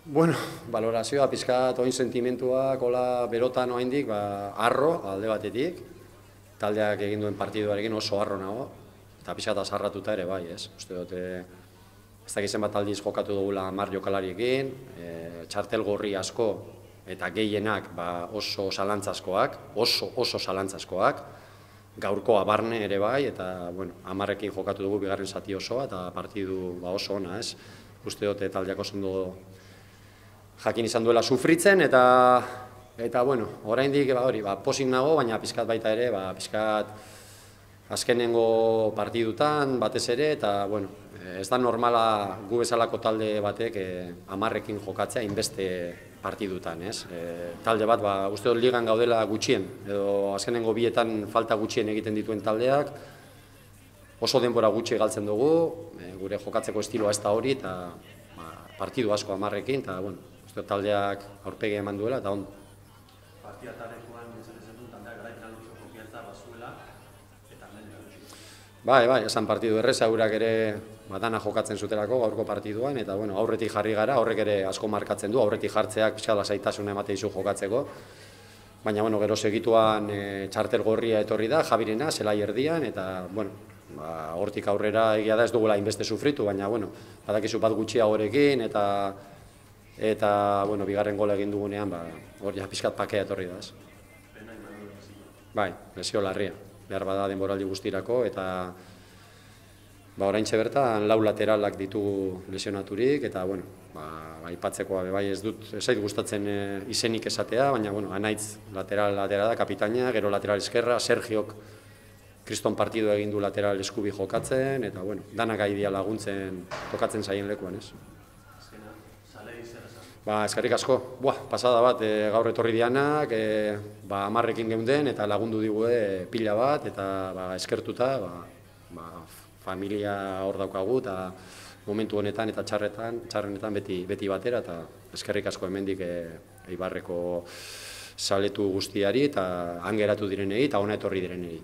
Bueno, valorazioa pizkat oin sentimentuak, hola berotan oraindik, harro alde batetik, taldeak egin duen partiduarekin oso harro nago, eta pizkat azarratuta ere bai, ez? Uste dut, ez dakit zenbat aldiz jokatu dugula 10 jokalariekin, txartel gorri asko eta gehienak oso zalantzazkoak, oso zalantzazkoak, gaurkoa barne ere bai, eta, bueno, 10ekin jokatu dugu bigarren zati osoa, eta partidu oso ona, ez? Uste dut, taldeak oso ondo jakin izan duela sufritzen, eta bueno, oraindik pozik nago, baina pizkat baita ere, pizkat azkenengo partidutan batez ere, eta bueno, ez da normala gu bezalako talde batek 10ekin jokatzea inbeste partidutan, ez? Talde bat, uste dut ligan gaudela gutxien, edo azkenengo bietan falta gutxien egiten dituen taldeak, oso denbora gutxi galtzen dugu, gure jokatzeko estiloa ez da hori, eta partidu asko 10ekin, eta bueno, taldeak aurpegia eman duela, eta ondo. Partia talekuan esan dut, taldeak garaitan luzo konfiantza bazuela, eta hemen Bai, esan partidu erreza, eurak ere dana jokatzen zutelako gaurko partiduan, eta bueno, aurretik jarri gara, horrek ere asko markatzen du, aurretik jartzeak pixka lasaitasuna emate dizu jokatzeko, baina bueno, gero segituan txartel gorria etorri da, Jabirena, zelai erdian, eta bueno, hortik aurrera egia da ez dugula inbeste sufritu, baina bueno, badakizu bat gutxiagorekin, eta bueno, bigarren gola egin dugunean, hori pixkat pakea etorri da, ez? Bai, lesio larria, behar bada denboraldi guztirako, eta oraintxe bertan 4 lateralak ditugu lesionaturik, eta bueno, aipatzekoa bai ez zait gustatzen izenik esatea, baina bueno, Anaitz lateral da, kapitaina, gero lateral eskerra, Sergiok kriston partidu egin du lateral eskubi jokatzen, eta bueno, danak gai laguntzen tokatzen zaien lekuan, ez? Eskerrik asko, pasada bat gaur etorri dianak, 10ekin geunden eta lagundu digue pila bat, eta eskertuta, familia hor daukagu, eta momentu honetan eta txarrenetan beti batera, eta eskerrik asko hemendik Eibarreko zaletu guztiari, eta han geratu direnei, eta hona etorri direnei.